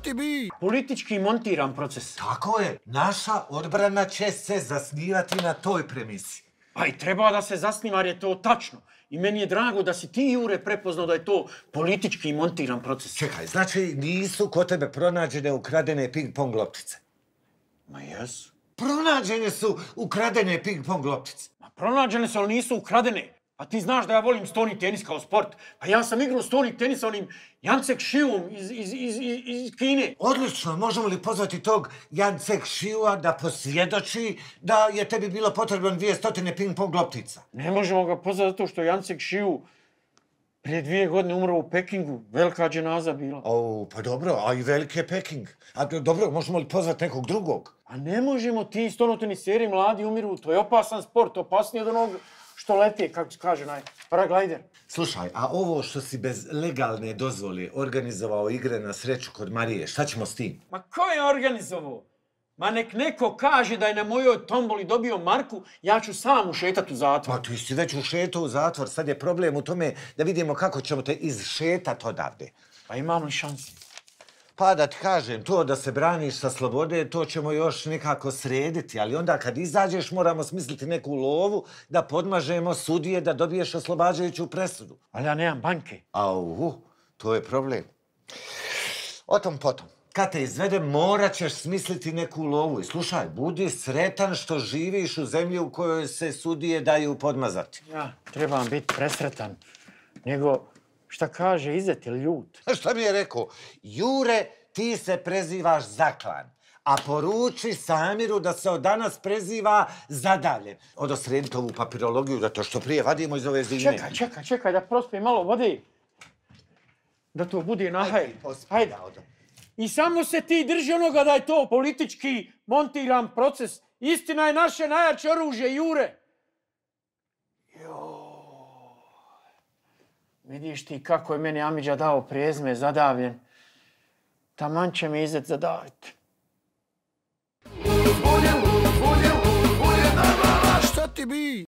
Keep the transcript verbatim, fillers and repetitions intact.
ti bi? Politički montiran proces. Tako je. Naša odbrana će se zasnivati na toj premisi. Pa i treba da se zasniva jer je to tačno. I meni je drago da si ti, Jure, prepoznao da je to politički montiran proces. Čekaj, znači nisu kod tebe pronađene ukradene ping-pong loptice? Ma jesu. Pronađene su ukradene ping-pong loptice. Ma pronađene su, ali nisu ukradene. A ti znaš da ja volim stoni tenis kao sport. Pa ja sam igrao stoni tenis sa onim Jancek Šivom iz, iz, iz, iz Kine. Odlično, možemo li pozvati tog Jancek Šiva da posvjedoči da je tebi bilo potrebno dvije stotine ping-pong loptica? Ne možemo ga pozvati zato što Jancek Šivu prije dvije godine umro u Pekingu. Velika dženaza bila. O, pa dobro, a i veliki je Peking. A dobro, možemo li pozvati nekog drugog? A ne možemo, ti stonoteniseri mladi umiru. To je opasan sport, opasniji od onog što leti, kako se kaže, naj, paraglider. Slušaj, a ovo što si bez legalne dozvole organizovao igre na sreću kod Marije, šta ćemo s tim? Ma ko je organizovao? Ma nek neko kaže da je na mojoj tomboli dobio marku, ja ću sam ušetat u zatvor. Pa ti si već ušetao u zatvor, sad je problem u tome da vidimo kako ćemo te izšetat odavde. Pa imam li šansi? Pa da ti kažem, to da se braniš sa slobode, to ćemo još nekako srediti, ali onda kad izađeš moramo smisliti neku lovu da podmažemo sudije da dobiješ oslobađajuću presudu. Ali ja nemam banke. Au, to je problem. O tom potom. Kad te izvedem, morat ćeš smisliti neku lovu. I slušaj, budi sretan što živiš u zemlji u kojoj se sudije daju podmazati. Ja, trebam biti presretan. Nego, šta kaže, Izet je ljut? Šta mi je rekao? Jure, ti se prezivaš Zaklan, a poruči Samiru da se od danas preziva Zadavljen. Odosredite ovu papirologiju da to što prije vadimo iz ove zime. Čekaj, čekaj, čekaj, da prospijem malo vode. Da to bude nahaj. Hajde. I samo se ti drži onoga da je to politički montiran proces. Istina je naše najjače oružje, Jure. Vidiš ti kako je meni Amidža dao prijezme Zadavljen. Taman će mi Izet zadaviti. Šta ti bi?